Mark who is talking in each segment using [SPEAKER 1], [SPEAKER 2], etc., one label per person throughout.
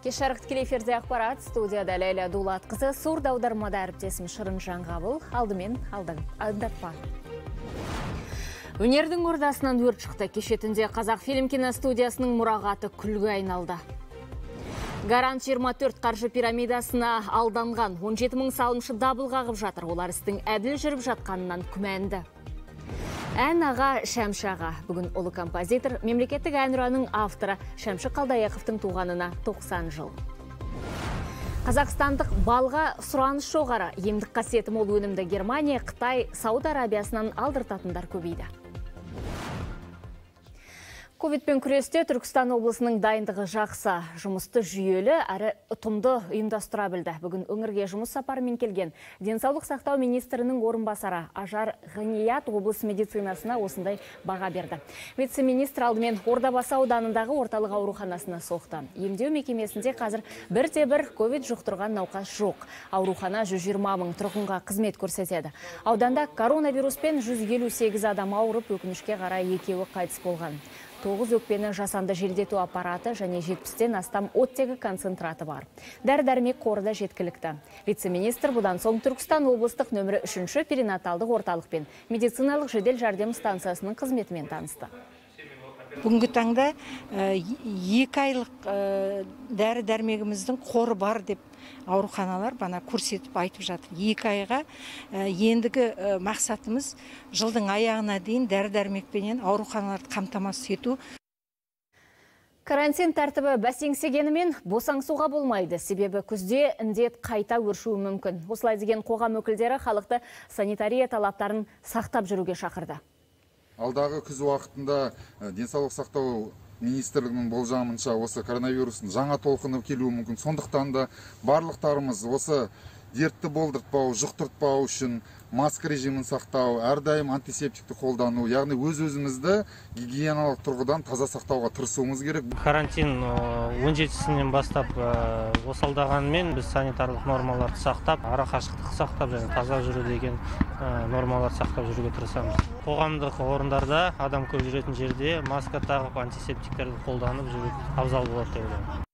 [SPEAKER 1] Кешарық тікелей эфирде ақпарат, студияда Ләйлә Дулатқызы, сурда аудармада әріптесім Шырын Жаңғабыл, алдымен алдатпа. Өнердің ордасынан өрт шықты. Кешетінде Қазақфильм киностудиясының мұрағаты күлге айналды. Гарант 24 қаржы пирамидасына алданған 17 мың салымшы дабыл қағып жатыр. Олар істің әділ жүріп жатқанынан күмәнді. Ән аға Шәмші аға. Бүгін ұлы композитор, мемлекеттік әнұранның авторы Шәмші Қалдаяқовтың туғанына 90 жыл. Қазақстандық балға сұраныс жоғары. Емдік қасиеті мол өнімді Германия, Қытай, Сауд Арабиясынан алдыртатындар көбейді. Ковидпен күресте Түркістан облысының дайындығы жақсы, жұмысты жүйелі әрі ұтымды ұйымдастыра білді. Бүгін өңірге жұмыс сапарымен келген денсаулық сақтау министрінің орынбасары Ажар Ғаният облыс медицинасына осындай баға берді. Вице-министр алдымен Ордабасы ауданындағы орталық ауруханасына соқты. Емдеу мекемесінде қазір бірде-бір ковид жұқтырған науқас жоқ. Аурухана 120 мың тұрғынға қызмет көрсетеді. Ауданда коронавируспен 158 адам ауырып, өкінішке қарай екеуі қайтыс болған. 9 өкпені жасанды желдету аппараты және 70-тен астам оттегі концентраты бар. Дәрі-дәрмек қоры да жеткілікті. Вице-министр бұдан соң Түркістан облыстық нөмірі 3-ші перинаталдық орталық пен медициналық жедел жәрдем станциясының қызметімен танысты.
[SPEAKER 2] Бүгінгі таңда 2 айлық дәрі-дәрмегіміздің қоры бар деп ауруханалар бана көрсетіп айтып жатыр. 2 айға ендігі мақсатымыз жылдың аяғына дейін дәрі-дәрмекпенен ауруханаларды қамтамасыз ету.
[SPEAKER 1] Карантин тәртібі бәсеңсегенімен босаңсуға болмайды. Себебі күзде індет қайта өршуі мүмкін. Осылай деген қоғам өкілдері халықты санитария талаптарын сақтап жүруге шақырды.
[SPEAKER 3] Алдағы күз уақытында денсаулық сақтау министрлігінің болжамынша осы коронавирустың жаңа толқыны келуі мүмкін. Сондықтан да барлықтарымыз осы дертті болдыртпау, жұқтыртпау үшін маска режимін сақтау, әрдайым антисептикті қолдану, яғни өз-өзімізді гигиеналық тұрғыдан таза сақтауға тырысуымыз керек.
[SPEAKER 4] Карантин 17-сінен бастап осалдағанмен біз санитарлық нормаларды сақтап, ара қашықтық сақтап, және таза жүру деген нормаларды сақтап жүруге тырысамыз. Қоғамдық орындарда, адам көп жүретін жерде маска тағып, антисептиктерді қолданып жүру абзал болады деп ойлаймын.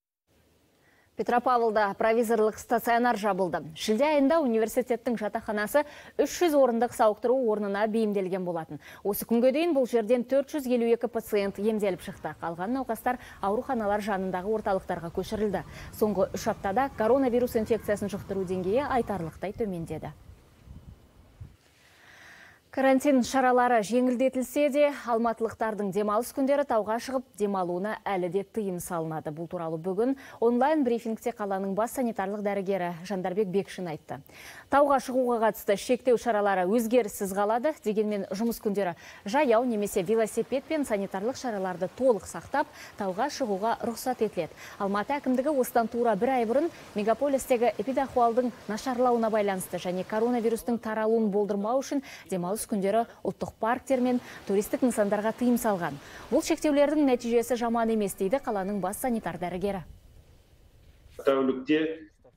[SPEAKER 1] Петропавлда провизорлық стационар жабылды. Шілде айында университеттің жатақханасы 300 орындық сауықтыру орнына бейімделген болатын. Осы күнге дейін бұл жерден 452 пациент емделіп шықты. Қалған науқастар ауруханалар жанындағы орталықтарға көшірілді. Соңғы 3 аптада коронавирус инфекциясын жұқтыру деңгейі айтарлықтай төмендеді. Карантин шаралары жеңілдетілсе де, алматылықтардың демалыс күндері тауға шығып демалуына әлі де тыйым салынады. Бұл туралы бүгін онлайн брифингте қаланың бас санитарлық дәрігері Жандарбек Бекшин айтты. Тауға шығуға қатысты шектеу шаралары өзгеріссіз қалады, дегенмен жұмыс күндері жаяу немесе велосипед пен санитарлық шараларды толық сақтап, тауға шығуға рұқсат етіледі. Алматы әкімдігі осыдан тура 1 ай бұрын мегаполистегі эпидахуалдың нашарлауына байланысты және коронавирустың таралуын болдырмау үшін демалыс күндері ұлттық парктер мен туристік нысандарға тыйым салған. Бұл шектеулердің нәтижесі жаман емес дейді қаланың бас санитар дәрігері.
[SPEAKER 5] Тәулікте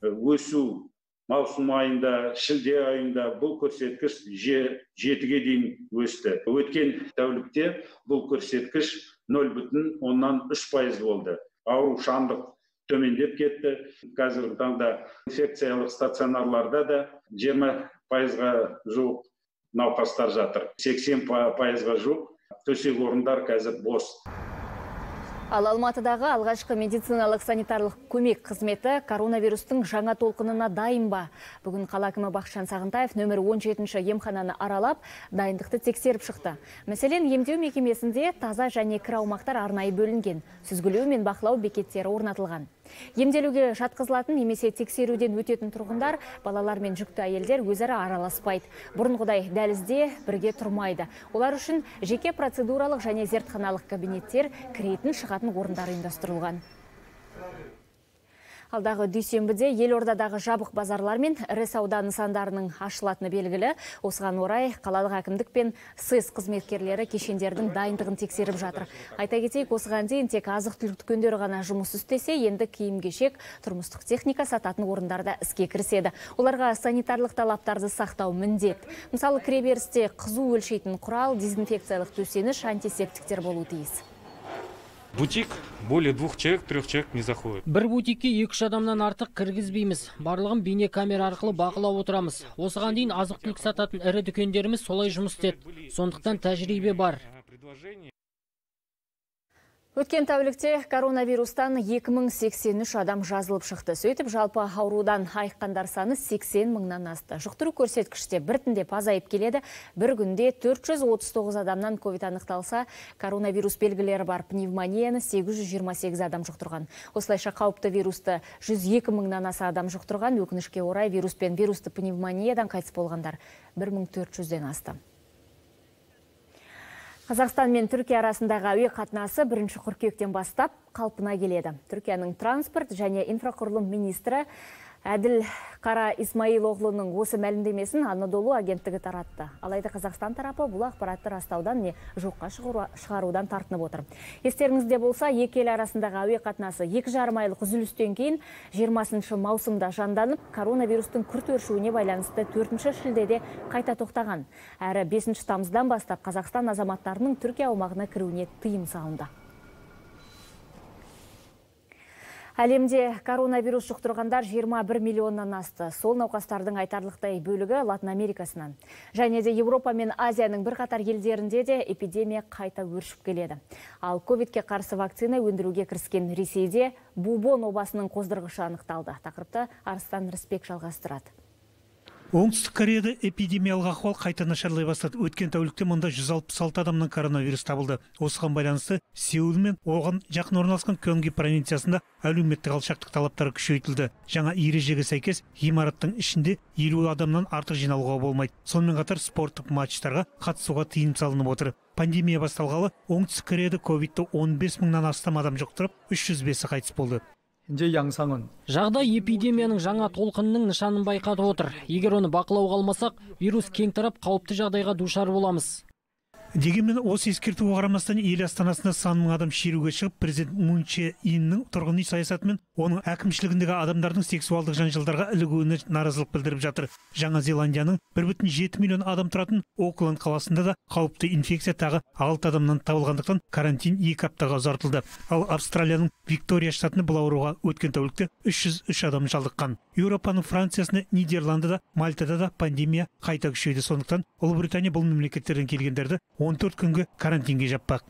[SPEAKER 5] өсу маусым айында, шілде айында бұл көрсеткіш 7-ге дейін өсті. Өткен тәулікте бұл көрсеткіш 0,3% болды. Аурушаңдық төмендеп кетті. Қазіргі таңда инфекциялық стационарларда да 20%-ға жуық науқастар жатыр. 80%-ға жуық төсек орындар қазір бос.
[SPEAKER 1] Ал Алматыдағы алғашқы медициналық санитарлық көмек қызметі коронавирустың жаңа толқынына дайын ба? Бүгін қала әкімі Бақытжан Сағынтаев нөмір 17-ші емхананы аралап, дайындықты тексеріп шықты. Мәселен, емдеу мекемесінде таза және кір аумақтар арнайы бөлінген, сүзгілеу мен бақылау бекеттері орнатылған. Емделуге жатқызылатын немесе тексеруден өтетін тұрғындар, балалар мен жүкті әйелдер өзара араласпайды. Бұрынғыдай дәлізде бірге тұрмайды. Олар үшін жеке процедуралық және зертханалық кабинеттер, кіретін шығатын орындар ұйымдастырылған. Алдағы дүйсенбіде елордадағы жабық базарлар мен ірі сауда нысандарының ашылатыны белгілі. Осыған орай қалалық әкімдік пен СЭС қызметкерлері кешендердің дайындығын тексеріп жатыр. Айта кетейік, осыған дейін тек азық-түлік дүкендері ғана жұмыс істесе, енді киім-кешек, тұрмыстық техника сататын орындарда іске кіріседі. Оларға санитарлық талаптарды сақтау міндет. Мысалы, кіреберісте қызу өлшейтін құрал, дезинфекциялық төсеніш, антисептиктер болуы тиіс.
[SPEAKER 6] Бутик более 2 человек, 3 человек не заходит.
[SPEAKER 7] Бір бутикке 2-3 адамнан артық кіргізбейміз. Барлығын бейне камера арқылы бақылап отырамыз. Осыған дейін азық-түлік сататын ірі дүкендеріміз солай жұмыс істеді. Сондықтан тәжірибе бар.
[SPEAKER 1] Өткен тәулікте коронавирустан 2083 адам жазылып шықты. Сөйтіп жалпы аурудан айыққандар саны 80 мыңнан асты. Жұқтыру көрсеткіште біртіндеп азайып келеді. Бір күнде 439 адамнан ковид анықталса, коронавирус белгілері бар пневмонияны 828 адам жұқтырған. Осылайша қауіпті вирусты 102 мыңнан аса адам жұқтырған. Өкінішке орай вирус пен вирусты пневмониядан қайтыс болғандар 1400-ден асты. Қазақстан мен Түркия арасындағы әуе қатынасы 1 қыркүйектен бастап қалпына келеді. Түркияның транспорт және инфрақұрылым министрі Әділ Қара Исмаилоғлының осы мәлімдемесін Анадолу агенттігі таратты. Алайда Қазақстан тарапы бұл ақпаратты растаудан не жоққа шығарудан тартынып отыр. Естеріңізде болса, екі ел арасындағы әуе қатынасы 2,5 айлық үзілістен кейін 20 маусымда жанданып, коронавирустың күрт өршуіне байланысты 4 шілдеде қайта тоқтаған. Әрі 5 тамыздан бастап Қазақстан азаматтарының Түркия аумағына кіруіне тыйым салынды. Әлемде коронавирус жұқтырғандар 21 миллионнан асты. Сол науқастардың айтарлықтай бөлігі Латын Америкасынан. Және де Европа мен Азияның бірқатар елдерінде де эпидемия қайта өршіп келеді. Ал ковидке қарсы вакцина өндіруге кіріскен Ресейде бубон обасының қоздырғышы анықталды. Тақырыпты Арыстан Рысбек жалғастырады.
[SPEAKER 8] Оңтүстік Кореяда эпидемиялық ахуал қайта нашарлай бастады. Өткен тәулікте мұнда 166 адамның коронавирус табылды. Осыған байланысты Сеул мен оған жақын орналасқан Кёнги провинциясында әлеуметтік алшақтық талаптары күшейтілді. Жаңа ережеге сәйкес ғимараттың ішінде 50 адамнан артық жиналуға болмайды. Сонымен қатар спорттық матчтарға қатысуға тыйым салынып отыр. Пандемия басталғалы оңтүстік Кореяда ковидті 15 мыңнан астам адам жұқтырып, 305-і қайтыс болды.
[SPEAKER 7] Жағдай эпидемияның жаңа толқынының нышанын байқатып отыр. Егер оны бақылауға алмасақ, вирус кең тарап қауіпті жағдайға душар боламыз.
[SPEAKER 8] Дегенмен осы ескертуге қарамастан ел астанасында сан мың адам шеруге шығып, президент Мун Чже Иннің тұрғын үй саясаты мен оның әкімшілігіндегі адамдардың сексуалдық жанжалдарға ілігуіне наразылық білдіріп жатыр. Жаңа Зеландияның 1,7 миллион адам тұратын Окленд қаласында да қауіпті инфекция тағы 6 адамнан табылғандықтан карантин 2 аптаға ұзартылды. Ал Австралияның Виктория штатында бұл ауруға өткен тәулікте 303 адам шалдыққан. Еуропаның Франциясында, Нидерландыда, Мальтада да пандемия қайта күшейді. Сондықтан Ұлыбритания бұл мемлекеттерден келгендерді 14 күнге карантинге жаппақ.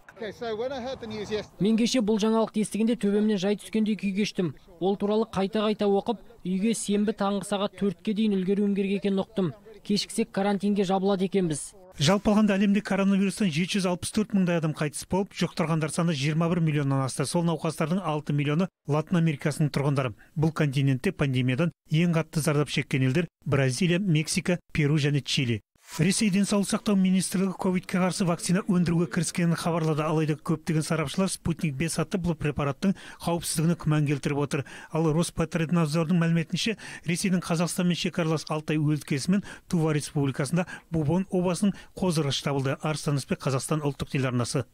[SPEAKER 7] Мен кеше бұл жаңалықты естігенде төбемнен жай түскендей күй кештім. Ол туралы қайта оқып, үйге сенбі таңғы сағат 4-ке дейін үлгеруім керек екенін ұқтым. Кешіксек карантинге жабылады екенбіз.
[SPEAKER 8] Жалпы алғанда әлемде коронавирустан 764 мыңдай адам қайтыс болып, жұқтырғандар саны 21 миллионнан асты. Сол науқастардың 6 миллионы Латын Америкасының тұрғындары. Бұл континентте пандемиядан ең қатты зардап шеккен елдер Бразилия, Мексика, Перу және Чили. Ресей денсаулық сақтау министрлігі ковидке қарсы вакцина өндіруге кіріскенін хабарлады. Алайда көптеген сарапшылар Спутник 5 атты бұл препараттың қауіпсіздігіне күмән келтіріп отыр. Ал Роспотребнадзордың мәліметінше, Ресейдің Қазақстанмен шекаралас Алтай өлкесі мен Тува республикасында бубон обасының қоздырғышы табылды. Арыстан Рысбек, Қазақстан ұлттық телеарнасы.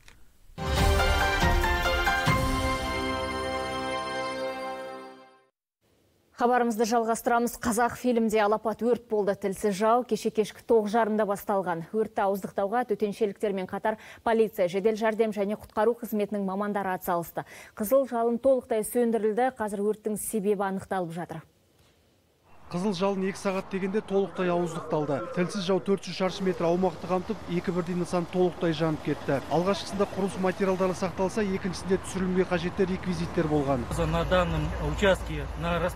[SPEAKER 1] Хабарымызды жалғастырамыз. Қазақ фильмде алапат өрт болды. Тілсіз жау кеше кешкі 9:30-да басталған. Өртті ауыздықтауға төтеншеліктермен қатар полиция, жедел жәрдем және құтқару қызметінің мамандары атсалысты. Қызыл жалын толықтай сөндірілді. Қазір өрттің себебі анықталып жатыр.
[SPEAKER 9] Қызыл жалын 2 сағат дегенде толықтай ауыздықталды. Тілсіз жау 400 шаршы метр аумақты қамтып, 2 бірдей нысан толықтай жанып кетті. Алғашқысында құрылыс материалдары сақталса, екіншісінде түсірілімге қажетті реквизиттер болған.
[SPEAKER 7] На данном участке на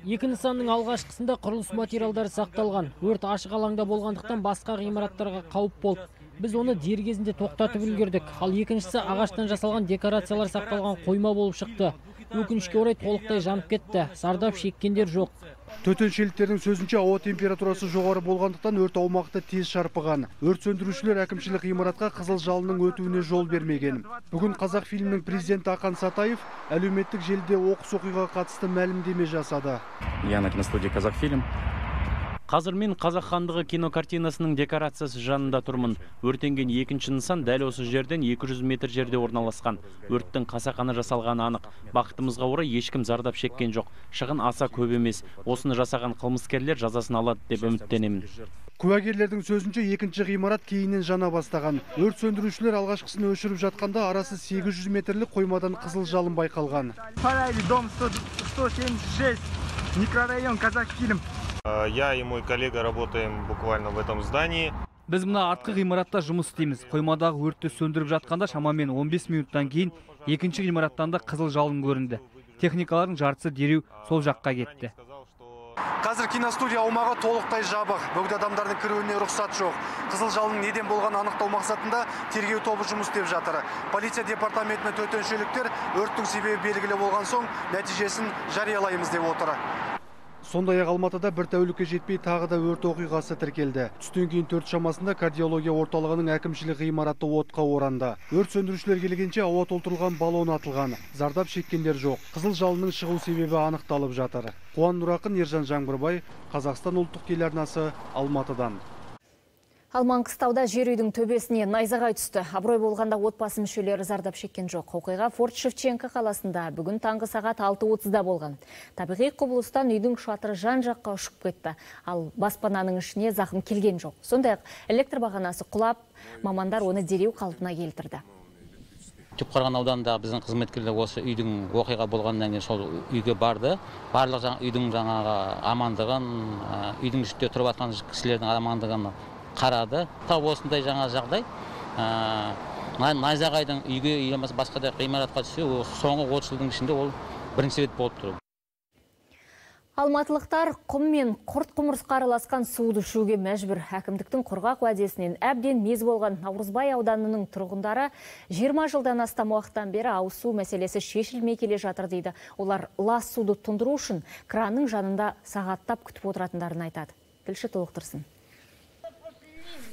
[SPEAKER 7] Екі нысанның алғашқысында құрылыс материалдары сақталған. Өрт ашық алаңда болғандықтан басқа ғимараттарға қауіп болды. Біз оны дер кезінде тоқтатып үлгердік. Ал екіншісі ағаштан жасалған декорациялар сақталған қойма болып шықты. Өкінішке орай толықтай жанып кетті. Зардап шеккендер жоқ.
[SPEAKER 9] Төтеншеліктердің сөзінше ауа температурасы жоғары болғандықтан өрт аумақты тез шарпыған. Өрт сөндірушілер әкімшілік ғимаратқа қызыл жалынның өтуіне жол бермеген. Бүгін Қазақ фильмінің президенті Ақан Сатаев әлеуметтік желіде оқыс оқиғаға қатысты мәлімдеме жасады.
[SPEAKER 10] Я на киностудии «Казахфильм». Қазір мен Қазақ хандығы кинокартинасының декорациясы жанында тұрмын. Өртенген екінші нысан дәл осы жерден 200 метр жерде орналасқан. Өрттің қасақана жасалғаны анық. Бақытымызға орай ешкім зардап шеккен жоқ. Шығын аса көп емес. Осыны жасаған қылмыскерлер жазасын алады деп үміттенемін.
[SPEAKER 9] Куәгерлердің сөзінше екінші ғимарат кейіннен жана бастаған. Өрт сөндірушілер алғашқысын өшіріп жатқанда арасы 800 метрлік қоймадан қызыл жалын байқалған.
[SPEAKER 11] Дом 176, микрорайон Казахфильм.
[SPEAKER 12] Я и мой коллега работаем буквально в этом здании.
[SPEAKER 13] Біз мына артқы ғимаратта жұмыс істейміз. Қоймадағы өртті сөндіріп жатқанда шамамен 15 минуттан кейін екінші ғимараттан да қызыл жалын көрінді. Техникалардың жартысы дереу сол жаққа кетті.
[SPEAKER 9] Қазір киностудия аумағы толықтай жабық. Бөгде адамдардың кіруіне рұқсат жоқ. Қызыл жалынның неден болғаны анықтау мақсатында тергеу тобы жұмыс істеп жатыр. Полиция департаментінің төтеншеліктер өрттің себебі белгілі болған соң нәтижесін жариялаймыз деп отыр. Сондай-ақ Алматыда бір тәулікке жетпей тағы да өрт оқиғасы тіркелді. Түстен кейін 4 шамасында кардиология орталығының әкімшілік ғимараты отқа оранды. Өрт сөндірушілер келгенше ауа толтырылған баллон атылған. Зардап шеккендер жоқ. Қызыл жалынның шығу себебі анықталып жатыр. Қуан Нұрақын, Ержан Жаңбырбай, Қазақстан ұлттық телеарнасы, Алматыдан.
[SPEAKER 1] Ал Маңғыстауда жер үйдің төбесіне найзағай түсті. Абырой болғанда отбасы мүшелері зардап шеккен жоқ. Оқиға Форт Шевченко қаласында бүгін таңғы сағат 6:30-да болған. Табиғи құбылыстан үйдің шатыры жан жаққа ұшып кетті. Ал баспананың ішіне зақым келген жоқ. Сондай-ақ электр бағанасы құлап, мамандар оны дереу қалпына келтірді.
[SPEAKER 14] Түпқараған ауданында біздің қызметкерлер осы үйдің оқиға болғаннан кейін сол үйге барды. Барлық үйдің жаңағы амандығын, үйдің ішінде тұрып жатқан кісілердің амандығын қарады. Тап осындай жаңа жағдай. Найзағайдың үйге елемесі басқа да ғимаратқа түссе, соңғы 30 жылдың ішінде ол бірінші рет болып тұр.
[SPEAKER 1] Алматылықтар құм мен құрт құмырсқа араласқан суды ішуге мәжбүр. Әкімдіктің құрғақ уәдесінен әбден мез болған Наурызбай ауданының тұрғындары 20 жылдан астам уақыттан бері ауыз су мәселесі шешілмей келе жатыр дейді. Олар лас суды тұндыру үшін кранның жанында сағаттап күтіп отыратындарын айтады. Тілші толықтырсын.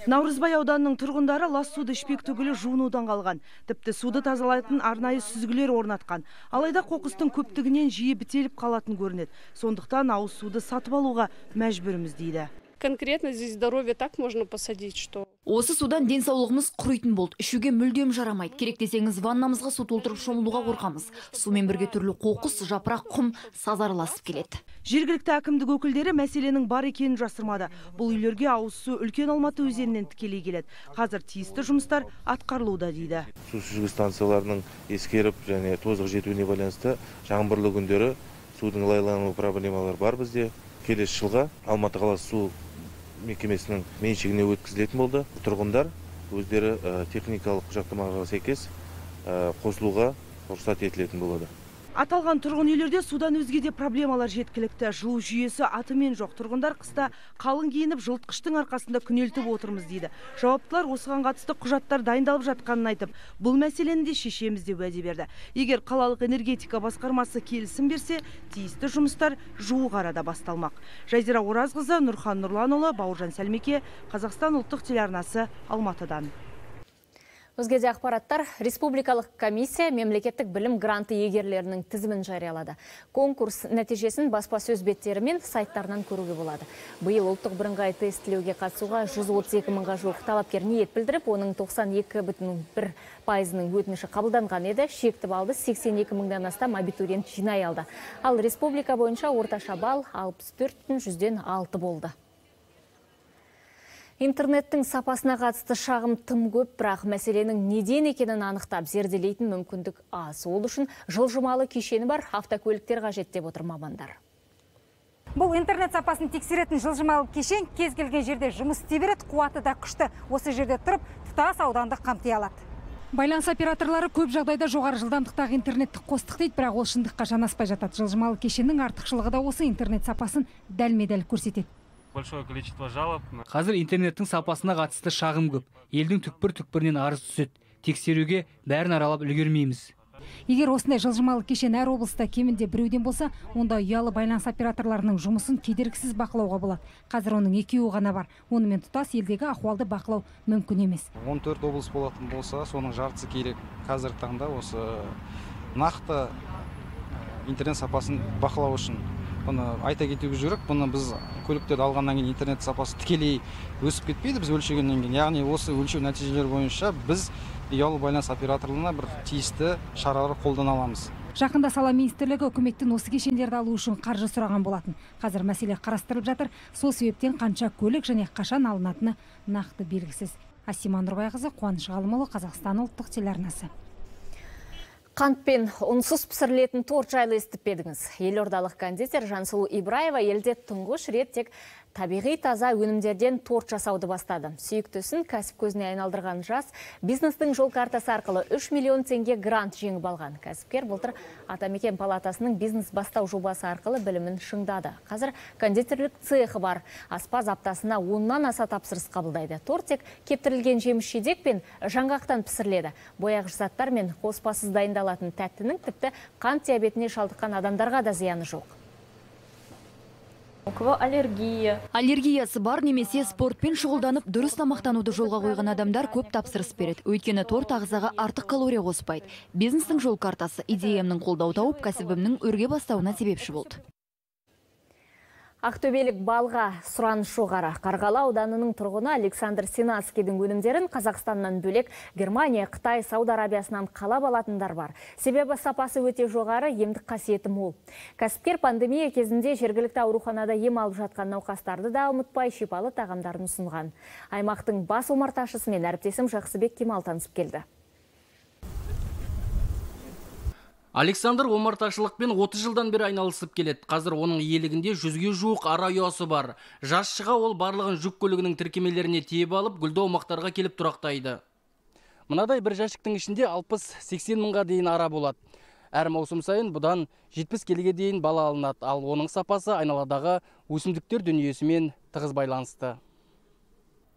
[SPEAKER 15] Наурызбай ауданының тұрғындары лас суды ішпек түгілі жуынудан қалған. Тіпті суды тазалайтын арнайы сүзгілер орнатқан. Алайда қоқыстың көптігінен жиі бітеліп қалатын көрінеді. Сондықтан ауыз суды сатып алуға мәжбүрміз дейді.
[SPEAKER 16] Конкретно здесь здоровье так можно посадить, что...
[SPEAKER 17] Осы судан денсаулығымыз құрайтын болды. Ішуге мүлдем жарамайды. Керек десеңіз, ваннамызға су толтырып шомылуға қорқамыз. Сумен бірге түрлі қоқыс, жапырақ, құм, саз араласып келеді.
[SPEAKER 15] Жергілікті әкімдік өкілдері мәселенің бар екенін жасырмады. Бұл үйлерге ауыз су үлкен Алматы өзенінен тікелей келеді. Қазір тиісті жұмыстар атқарылуда дейді.
[SPEAKER 12] Су сүзгі станцияларының ескеріп және тозығы жетуіне байланысты жаңбырлы күндері судың лайлану проблемалары бар бізде. Келесі жылға Алматы қаласы су мекемесінің меншігіне өткізілетін болды. Тұрғындар өздері техникалық құжаттамаға сәйкес қосылуға рұқсат етілетін болады.
[SPEAKER 15] Аталған тұрғын үйлерде судан өзге де проблемалар жеткілікті. Жылу жүйесі атымен жоқ. Тұрғындар қыста қалың киініп, жылытқыштың арқасында күнелтіп отырмыз дейді. Жауаптылар осыған қатысты құжаттар дайындалып жатқанын айтып, бұл мәселені де шешеміз деп уәде берді. Егер қалалық энергетика басқармасы келісім берсе, тиісті жұмыстар жуық арада басталмақ. Жазира Оразқызы, Нұрхан Нұрланұлы, Бауыржан Сәлмеке, Қазақстан ұлттық телеарнасы, Алматыдан.
[SPEAKER 1] Өзгеде ақпараттар, Республикалық комиссия мемлекеттік білім гранты егерлерінің тізімін жариялады. Конкурс нәтижесін баспасөз беттері мен сайттарынан көруге болады. Биыл ұлттық бірыңғай тестілеуге қатысуға 132 мыңға жуық талапкер ниет білдіріп, оның 92,1%-ның өтініші қабылданған еді. Шекті балды 82 мыңдан астам абитуриент жинай алды. Ал республика бойынша орташа балл 64,6 болды. Интернеттің сапасына қатысты шағым тым көп, бірақ мәселенің неден екенін анықтап зерделейтін мүмкіндік аз. Ол үшін жылжымалы кешені бар автокөліктер қажет деп отыр мамандар.
[SPEAKER 18] Бұл интернет сапасын тексеретін жылжымалы кешен кез келген жерде жұмыс істей береді, қуаты да күшті. Осы жерде тұрып, тұтас ауданды қамти алады.
[SPEAKER 2] Байланыс операторлары көп жағдайда жоғары жылдамдықтағы интернетті қостық дейді, бірақ ол шындыққа жанаспай жатады. Жылжымалы кешеннің артықшылығы да осы интернет сапасын дәлме-дәл көрсетеді.
[SPEAKER 13] Қазір интернеттің сапасына қатысты шағым көп. Елдің түкпір-түкпірінен арыз түседі. Тексеруге бәрін аралап үлгермейміз.
[SPEAKER 2] Егер осындай жылжымалы кешен әр облыста кемінде біреуден болса, онда ұялы байланыс операторларының жұмысын кедергісіз бақылауға болады. Қазір оның 2-і ғана бар. Онымен тұтас елдегі ахуалды бақылау мүмкін емес.
[SPEAKER 19] 14 облыс болатын болса, соның жартысы керек. Қазіргі таңда осы нақты интернет сапасын бақылау үшін бұны айта кетуге жүрек. Бұны біз көліктерді алғаннан кейін интернет сапасы тікелей өсіп кетпейді біз өлшегеннен кейін. Яғни осы өлшеу нәтижелері бойынша біз ұялы байланыс операторларына бір тиісті шаралар қолдана аламыз.
[SPEAKER 2] Жақында сала министрлігі үкіметтен осы кешендерді алу үшін қаржы сұраған болатын. Қазір мәселе қарастырылып жатыр. Сол себептен қанша көлік және қашан алынатыны нақты белгісіз. Асима Нұрбайқызы, Қуаныш Ғалымұлы, Қазақстан ұлттық телеарнасы.
[SPEAKER 1] Қантпен ұнсыз пісірілетін торт жайлы естіп пе едіңіз? Елордалық кондитер Жансұлу Ибраева елде тұңғыш рет тек табиғи таза өнімдерден торт жасауды бастады. Сүйіктісін кәсіп көзіне айналдырған жас бизнестің жол картасы арқылы 3 миллион теңге грант жеңіп алған. Кәсіпкер былтыр Атамекен палатасының бизнес бастау жобасы арқылы білімін шыңдады. Қазір кондитерлік цехы бар. Аспаз аптасына 10-нан аса тапсырыс қабылдайды. Торт тек кептірілген жеміс-жидек пен жаңғақтан пісіріледі. Бояғыш заттар мен қоспасыз дайындалатын тәттінің тіпті қант диабетіне шалдыққан адамдарға да зияны жоқ.
[SPEAKER 17] Аллергиясы бар немесе спортпен шұғылданып дұрыс тамақтануды жолға қойған адамдар көп тапсырыс береді. Өйткені торт ағзаға артық калория қоспайды. Бизнестің жол картасы идеямның қолдау тауып, кәсібімнің өрге бастауына себепші болды.
[SPEAKER 1] Ақтөбелік балға сұраныс жоғары. Қарғалы ауданының тұрғыны Александр Синацкийдің өнімдерін Қазақстаннан бөлек Германия, Қытай, Сауд Арабиясынан қалап алатындар бар. Себебі сапасы өте жоғары, емдік қасиеті мол. Кәсіпкер пандемия кезінде жергілікті ауруханада ем алып жатқан науқастарды да ұмытпай шипалы тағамдарын ұсынған. Аймақтың бас омарташысымен әріптесім Жақсыбек Кемал танысып келді.
[SPEAKER 20] Александр омарташылықпен 30 жылдан бері айналысып келеді. Қазір оның иелігінде 100-ге жуық ара ұясы бар. Жас шыға ол барлығын жүк көлігінің тіркемелеріне тиеп алып, гүлді аумақтарға келіп тұрақтайды. Мынадай бір жәшіктің ішінде 60-80 мыңға дейін ара болады. Әр маусым сайын бұдан 70 келіге дейін бала алынады. Ал оның сапасы айналадағы өсімдіктер дүниесімен тығыз байланысты.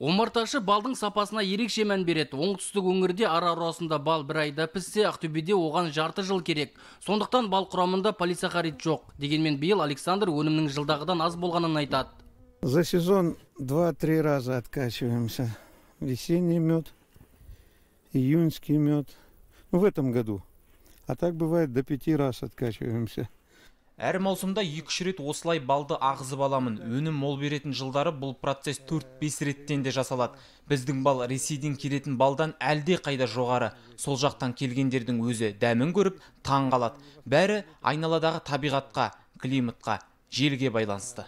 [SPEAKER 20] Омарташы балдың сапасына ерекше мән береді. Оңтүстік өңірде ара арасында бал бір айда піссе, Ақтөбеде оған жарты жыл керек. Сондықтан бал құрамында полисахарид жоқ. Дегенмен биыл Александр өнімнің жылдағыдан аз болғанын айтады.
[SPEAKER 21] За сезон 2-3 раза откачиваемся. Весенний мед, июньский мед. В этом году. А так бывает до 5 раз откачиваемся.
[SPEAKER 22] Әр маусымда 2-3 рет осылай балды ағызып аламын. Өнім мол беретін жылдары бұл процесс 4-5 реттен де жасалады. Біздің бал Ресейден келетін балдан әлде қайда жоғары. Сол жақтан келгендердің өзі дәмін көріп, таң қалады. Бәрі айналадағы табиғатқа, климатқа, желге байланысты.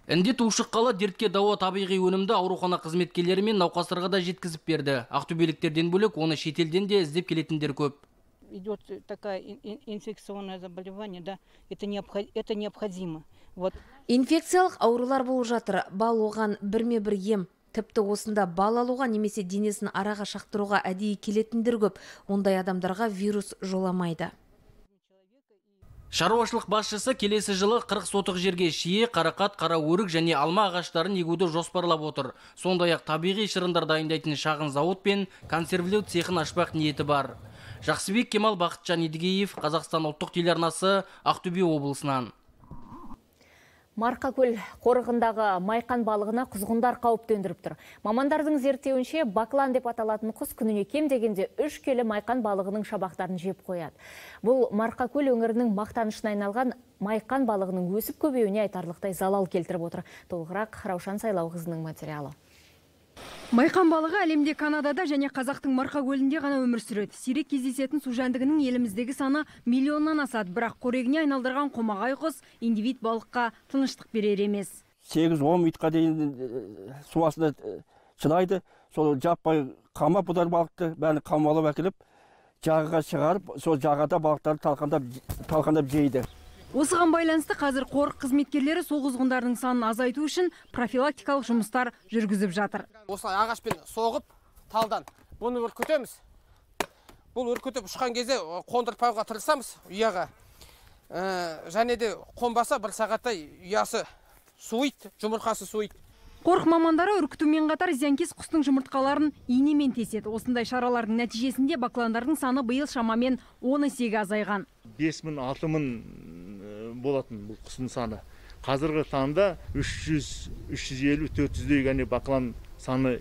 [SPEAKER 20] Індет ушыққалы дертке дауа табиғи өнімді аурухана қызметкерлері мен науқастарға да жеткізіп берді. Ақтөбеліктерден бөлек оны шетелден де іздеп келетіндер көп.
[SPEAKER 23] Идет такая инфекционное заболевание, да, это необходимо. Вот.
[SPEAKER 24] Инфекциялық аурулар болып жатыр. Бал оған бірме-бір ем. Тіпті осында бал алуға немесе денесін араға шақтыруға әдейі келетіндер көп. Ондай адамдарға вирус жоламайды.
[SPEAKER 20] Шаруашылық басшысы келесі жылы 40 сотық жерге шие, қарақат, қара өрік және алма ағаштарын егуді жоспарлап отыр. Сондай-ақ табиғи шырындар дайындайтын шағын зауыт пен консервілеу цехын ашпақ ниеті бар. Жақсыбек Кемал, Бақытжан Едігеев, Қазақстан ұлттық телеарнасы, Ақтөбе облысынан.
[SPEAKER 1] Марқакөл қорығындағы майқан балығына құзғындар қауіп төндіріп тұр. Мамандардың зерттеуінше баклан деп аталатын құс күніне кем дегенде 3 келі майқан балығының шабақтарын жеп қояды. Бұл Марқакөл өңірінің мақтанышына айналған майқан балығының өсіп көбеюіне айтарлықтай залал келтіріп отыр. Толығырақ Раушан Сайлауқызының материалы.
[SPEAKER 2] Майқан балығы әлемде Канадада және Қазақтың Марқакөлінде ғана өмір сүреді. Сирек кездесетін су жәндігінің еліміздегі саны миллионнан асады, бірақ қорегіне айналдырған қомағай құс индивид балыққа тыныштық берер емес.
[SPEAKER 25] 8-10 минутқа дейін су астында шыдайды. Сол жаппай қамап бұдар балықты бәрін қамалап әкеліп, жағаға шығарып, сол жағада балықтарды талқандап жейді.
[SPEAKER 2] Осыған байланысты қазір қорық қызметкерлері сол құзғындардың санын азайту үшін профилактикалық жұмыстар жүргізіп жатыр.
[SPEAKER 26] Осылай ағашпен соғып, талдан бұны үркітеміз. Бұл үркітіп ұшқан кезде қондырпауға тырысамыз ұяға. Және де қонбаса бір сағатта ұясы суиды, жұмыртқасы суиды.
[SPEAKER 2] Қорық мамандары үркітумен қатар зиянкес құстың жұмыртқаларын иінемен теседі. Осындай шаралардың нәтижесінде бакландардың саны биыл шамамен 10 есеге азайған.
[SPEAKER 27] 5.000-6.000 болатын бұл құстың саны. Қазіргі таңда 300-350-400-дей ғана баклан саны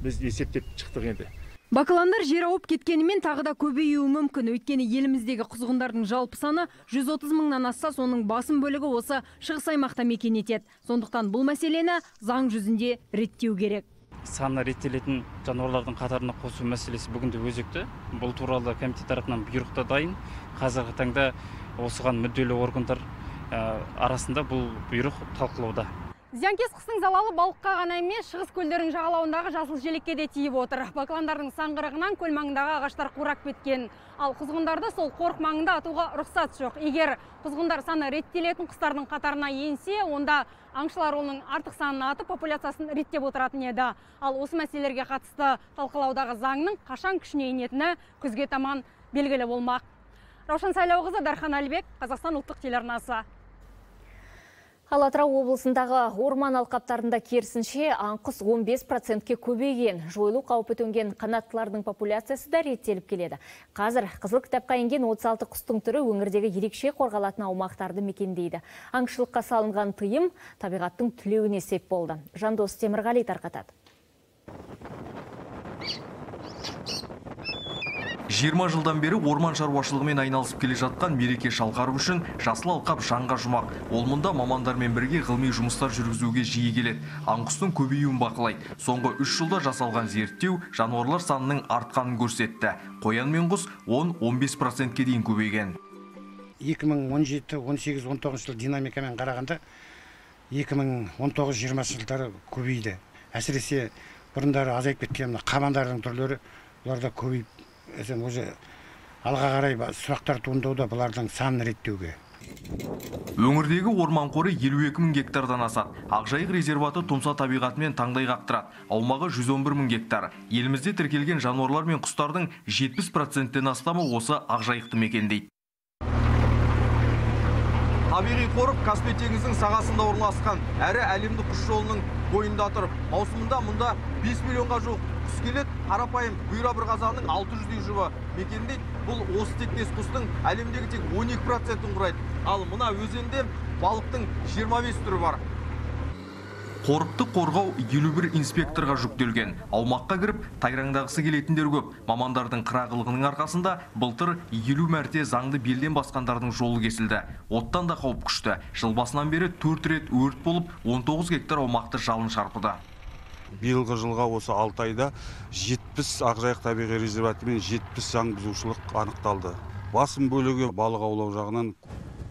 [SPEAKER 27] біз есептеп шықтық енді.
[SPEAKER 2] Бақыландар жер ауып кеткенімен тағы да көбеюі мүмкін. Өйткені еліміздегі құзғындардың жалпы саны 130 мыңнан асса, соның басым бөлігі осы шығыс аймақта мекен етеді. Сондықтан бұл мәселені заң жүзінде реттеу керек.
[SPEAKER 3] Саны реттелетін жануарлардың қатарына қосу мәселесі бүгінде өзекті. Бұл туралы комитет тарапынан бұйрықта дайын. Қазіргі таңда осыған мүдделі органдар арасында бұл бұйрық талқылауда.
[SPEAKER 4] Зиянкес қыстың залалы балыққа ғана емес, шығыс көлдердің жағалауындағы жасыл желекке де тиіп отыр. Бақыландардың саңғырығынан көл маңындағы ағаштар қурап кеткен. Ал құзғындарды сол қорық маңында атуға рұқсат жоқ. Егер құзғындар саны реттелетін құстардың қатарына енсе, онда аңшылар оның артық санын атып, популяциясын реттеп отыратын еді. Ал осы мәселелерге қатысты талқылаудағы заңның қашан күшіне енетіні күзге таман белгілі болмақ. Раушан Сайлауқызы, Дархан Әлбек, Қазақстан ұлттық телеарнасы.
[SPEAKER 1] Ал Атырау облысындағы орман алқаптарында керісінше аңқұс 15%-ке көбейген. Жойылу қаупі төнген қанаттылардың популяциясы да реттеліп келеді. Қазір қызыл кітапқа енген 36 құстың түрі өңірдегі ерекше қорғалатын аумақтарды мекендейді. Аңшылыққа салынған тыйым табиғаттың түлеуіне сеп болды. Жандос Темірғали тарқатады.
[SPEAKER 5] 20 жылдан бері орман шаруашылығымен айналысып келе жатқан Мереке Шалғаров үшін жасыл алқап жанға жұмақ. Ол мұнда мамандармен бірге ғылыми жұмыстар жүргізуге жиі келеді. Аңқұстың көбеюін бақылайды. Соңғы 3 жылда жасалған зерттеу жануарлар санының артқанын көрсетті. Қоян мен құс 10-15%-ке дейін көбейген.
[SPEAKER 6] 2017, 18, 19 жыл динамикамен қарағанда 2019-20 жылдары көбейді. Әсіресе бұрындары азайып кеткен қабандардың түрлері бұларда көбейіп, алға қарай сұрақтар туындауда бұлардың санын реттеуге.
[SPEAKER 5] Өңірдегі орман қоры 52 мың гектардан асады. Ақжайық резерваты тұмса табиғатымен таңдай қақтырады. Аумағы 111 мың гектар. Елімізде тіркелген жануарлар мен құстардың 70%-тен астамы осы Ақжайықты мекендейді. Табиғи қорық Каспий теңізінің сағасында орналасқан, әрі әлемдік құс жолының бойында тұрып, маусымында мұнда 5 миллионға жуық құс келеді. Қарапайым бұйра бір қазанның 600-дей жұбы мекендейді. Бұл осы тектес құстың әлемдегі тек 12%-ін құрайды. Ал мына өзенде балықтың 25 түрі бар. Қорықты қорғау 51 инспекторға жүктелген. Аумаққа кіріп, тайраңдағысы келетіндер көп. Мамандардың қырағылығының арқасында былтыр 50 мәрте заңды белден басқандардың жолы кесілді. Оттан да қауіп күшті. Жыл басынан бері 4 рет өрт болып, 19 гектар аумақты жалын шарпыды.
[SPEAKER 7] Биылғы жылға осы 6 айда 70 Ақжайық табиғи резерваты мен 70 заң бұзушылық анықталды. Басым бөлігі балық аулау жағынан.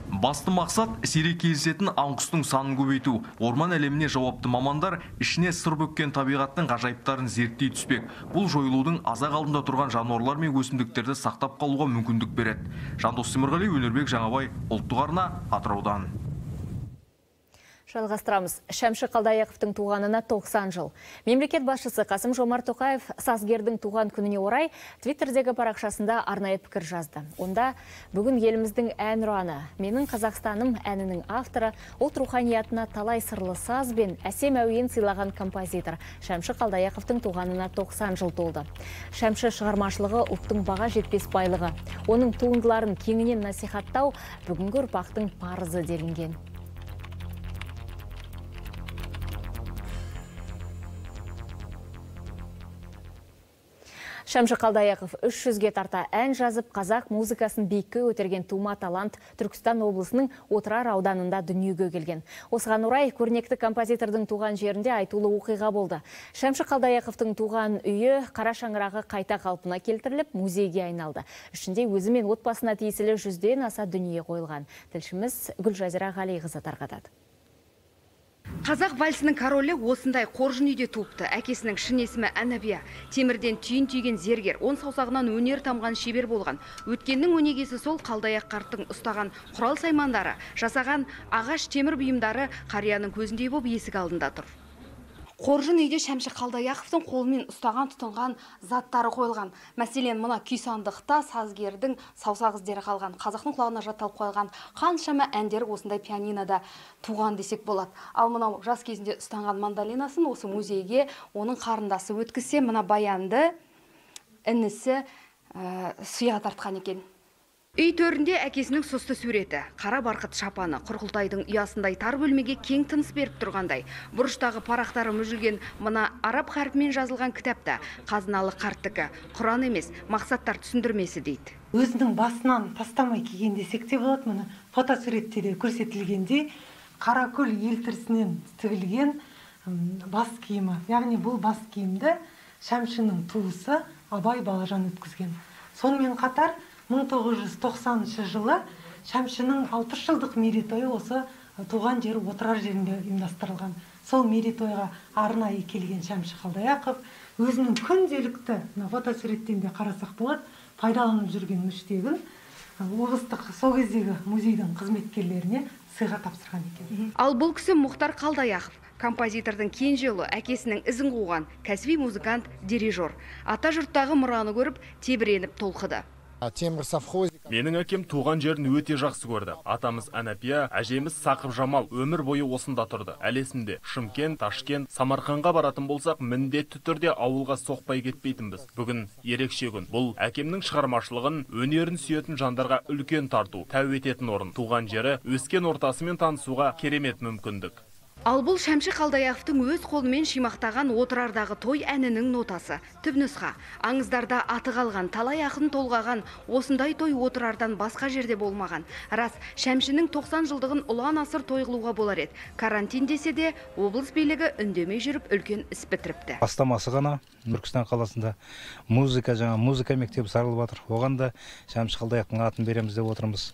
[SPEAKER 5] Басты мақсат сирек кездесетін аңқұстың санын көбейту. Орман әлеміне жауапты мамандар ішіне сыр бүккен табиғаттың ғажайыптарын зерттей түспек. Бұл жойылудың азақ алдында тұрған жануарлар мен өсімдіктерді сақтап қалуға мүмкіндік береді. Жандос Темірғали, Өнербек Жаңабай, ұлттық арна, Атыраудан.
[SPEAKER 1] Жалғастырамыз. Шәмші Қалдаяқовтың туғанына 90 жыл. Мемлекет басшысы Қасым-Жомарт Тоқаев сазгердің туған күніне орай Твиттердегі парақшасында арнайы пікір жазды. Онда бүгін еліміздің әнұраны, менің Қазақстаным әнінің авторы, ұлт руханиятына талай сырлы саз бен әсем әуен сыйлаған композитор Шәмші Қалдаяқовтың туғанына 90 жыл толды. Шәмші шығармашылығы ұлттың баға жетпес байлығы. Оның туындыларын кеңінен насихаттау бүгінгі ұрпақтың парызы делінген. Шәмші Қалдаяқов 300-ге тарта ән жазып, қазақ музыкасын биікке көтерген тума талант Түркістан облысының Отырар ауданында дүниеге келген. Осыған орай көрнекті композитордың туған жерінде айтулы оқиға болды. Шәмші Қалдаяқовтың туған үйі қара шаңырағы қайта қалпына келтіріліп, музейге айналды. Ішінде өзі мен отбасына тиесілі 100-ден аса дүние қойылған. Тілшіміз Гүлжазира Ғалиқызы тарқатады.
[SPEAKER 8] Қазақ вальсінің королі осындай қоржын үйде туыпты. Әкесінің шын есімі Әнәбия. Темірден түйін түйген зергер, он саусағынан өнер тамған шебер болған. Өткеннің өнегесі сол Қалдаяқ қарттың ұстаған құрал саймандары, жасаған ағаш темір бұйымдары қарияның көзіндей боп есік алдында тұр. Қоржын үйде Шәмші Қалдаяқовтың қолымен ұстаған тұтынған заттары қойылған. Мәселен, мына күй сандықта сазгердің саусақ іздері қалған. Қазақтың құлағына жатталып қойылған қаншама әндер осындай пианинода туған десек болады. Ал мынау жас кезінде ұстанған мандолинасын осы музейге оның қарындасы өткізсе, мына баянды інісі сұйға тартқан екен. Үй төрінде әкесінің сұсты суреті, қара барқыт шапаны, құрқылтайдың ұясындай тар бөлмеге кең тыныс беріп тұрғандай. Бұрыштағы парақтары мүжілген мына араб харпімен жазылған кітапта қазыналы қарттікі, Құран емес, мақсаттар түсіндірмесі дейді.
[SPEAKER 9] Өзінің басынан тастамай киген десек те болады, мұны фотосуретте де көрсетілгендей, қаракөл елтірісінен тігілген бас киімі. Яғни бұл бас киімді Шәмшінің туысы Абай Балажан өткізген. Сонымен қатар 1990 жылы Шәмшінің 60 жылдық мерейтойы осы туған жері отырар жерінде ұйымдастырылған. Сол мерейтойға арнайы келген Шәмші Қалдаяқов өзінің күнделікті, фотосуреттен де қарасақ болады, пайдаланып жүрген мүштегін облыстық сол кездегі музейдің қызметкерлеріне сыйға тапсырған екен.
[SPEAKER 8] Ал бұл кісі Мұхтар Қалдаяқов, композитордың кенже ұлы, әкесінің ізін қуған кәсіби музыкант, дирижер. Ата жұрттағы мұраны көріп, тебіреніп толқыды.
[SPEAKER 10] Менің әкем туған жерін өте жақсы көрді. Атамыз Әнәпия, әжеміз Сақып Жамал өмір бойы осында тұрды. Әлесімде Шымкент, Ташкент, Самарқанға баратын болсақ, міндетті түрде ауылға соқпай кетпейтінбіз. Бүгін ерекше күн. Бұл әкемнің шығармашылығын, өнерін сүйетін жандарға үлкен тарту, тәу ететін орын. Туған жері, өскен ортасымен танысуға керемет мүмкіндік.
[SPEAKER 8] Ал бұл Шәмші Қалдаяқовтың өз қолымен шимақтаған отырардағы той әнінің нотасы. Түпнұсқа, аңыздарда аты қалған, талай ақын толғаған, осындай той отырардан басқа жерде болмаған. Рас, Шәмшінің 90 жылдығын ұлан асыр тойғылуға болар еді. Карантин десе де, облыс билігі үндемей жүріп үлкен іс бітіріпті.
[SPEAKER 11] Бастамасы ғана Түркістан қаласында музыка мектебі сарылып жатыр. Оған да Шәмші Қалдаяқовтың атын береміз деп отырмыз.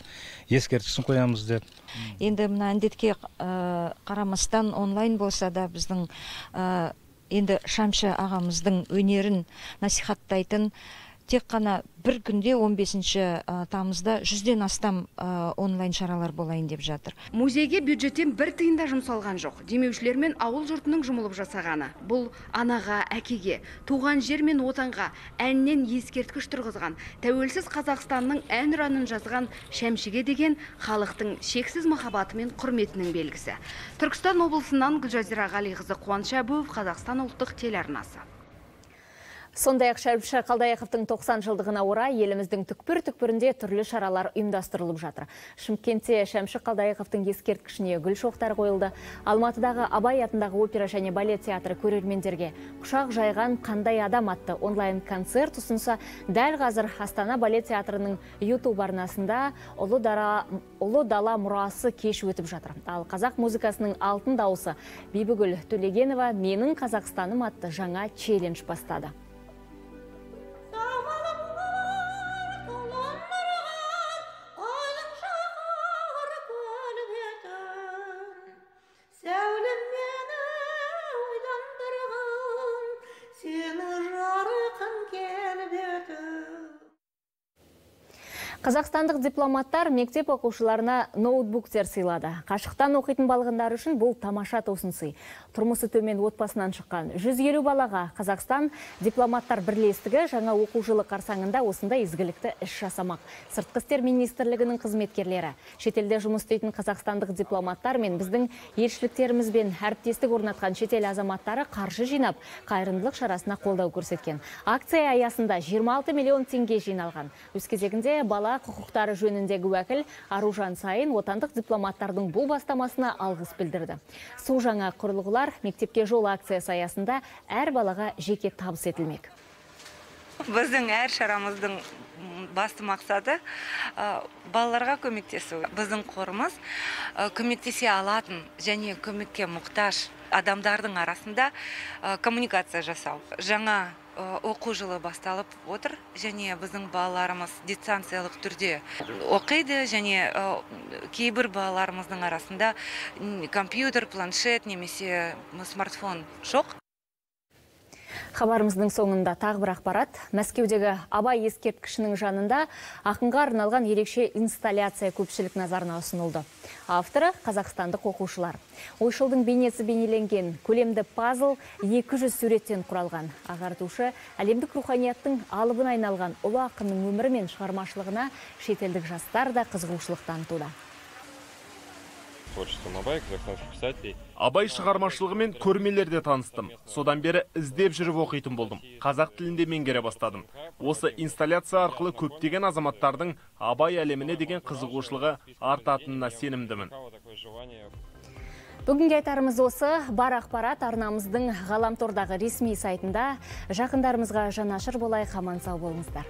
[SPEAKER 11] Ескерткішін қоямыз деп.
[SPEAKER 12] Енді мына індетке қарамастан онлайн болса да біздің енді Шәмші ағамыздың өнерін насихаттайтын тек қана бір күнде 15 тамызда 100-ден астам онлайн шаралар болайын деп жатыр.
[SPEAKER 8] Музейге бюджеттен бір тиын да жұмсалған жоқ. Демеушілер мен ауыл жұртының жұмылып жасағаны. Бұл анаға, әкеге, туған жер мен отанға әннен ескерткіш тұрғызған, тәуелсіз Қазақстанның әнұранын жазған Шәмшіге деген халықтың шексіз махаббаты мен құрметінің белгісі. Түркістан облысынан Гүлжазира Ғалиқызы, Қуаныш Әбуов, Қазақстан ұлттық телеарнасы.
[SPEAKER 1] Сондай-ақ Шәмші Қалдаяқовтың 90 жылдығына орай еліміздің түкпір-түкпірінде түрлі шаралар ұйымдастырылып жатыр. Шымкентте Шәмші Қалдаяқовтың ескерткішіне гүл шоқтар қойылды. Алматыдағы Абай атындағы опера және балет театры көрермендерге құшақ жайған қандай адам атты онлайн концерт ұсынса, дәл қазір Астана балет театрының YouTube арнасында Ұлы дала мұрасы кеш өтіп жатыр. Ал қазақ музыкасының алтын дауысы Бибігүл Төлегенова менің Қазақстаным атты жаңа челлендж бастады. Қазақстандық дипломаттар мектеп оқушыларына ноутбуктер сыйлады. Қашықтан оқитын балғындар үшін бұл тамаша тосын сый. Тұрмысы төмен отбасынан шыққан 150 балаға Қазақстан дипломаттар бірлестігі жаңа оқу жылы қарсаңында осындай изгілікті іс жасамақ. Сыртқы істер министрлігінің қызметкерлері, шетелде жұмыс істейтін қазақстандық дипломаттар мен біздің елшіліктерімізбен әріптестік орнатқан шетел азаматтары қаржы жинап, қайырымдылық шарасына қолдау көрсеткен. Акция аясында 26 миллион теңге жиналған. Өз кезегінде бала құқықтары жөніндегі уәкіл Аружан Сайын отандық дипломаттардың бұл бастамасына алғыс білдірді. Су жаңа құрылғылар мектепке жол акциясы аясында әр балаға жеке табыс етілмек.
[SPEAKER 14] Біздің әр шарамыздың басты мақсаты балаларға көмектесу. Біздің қорымыз көмектесе алатын және көмекке мұқтаж адамдардың арасында коммуникация жасау. Жаңа оқу жылы басталып отыр және біздің балаларымыз дистанциялық түрде оқиды және кейбір балаларымыздың арасында компьютер, планшет немесе смартфон жоқ.
[SPEAKER 1] Хабарымыздың соңында тағы бір ақпарат. Мәскеудегі Абай ескерткішінің жанында ақынға арналған ерекше инсталляция көпшілік назарына ұсынылды. Авторы қазақстандық оқушылар. Ойшылдың бейнесі бейнеленген көлемді пазл 200 суреттен құралған. Ағартушы әлемдік руханияттың алыбын айналған ұлы ақынның өмірі мен шығармашылығына шетелдік жастар да қызығушылық танытуда.
[SPEAKER 13] творчеством Абая, казахстанских писателей.
[SPEAKER 10] Абай шығармашылығымен көрмелерде таныстым. Содан бері іздеп жүріп оқитын болдым. Қазақ тілінде меңгере бастадым. Осы инсталляция арқылы көптеген азаматтардың Абай әлеміне деген қызығушылығы артатынына сенімдімін.
[SPEAKER 1] Бүгінге айтарымыз осы. Бар ақпарат арнамыздың ғаламтордағы ресми сайтында. Жақындарымызға жанашыр болайық, аман сау болыңыздар.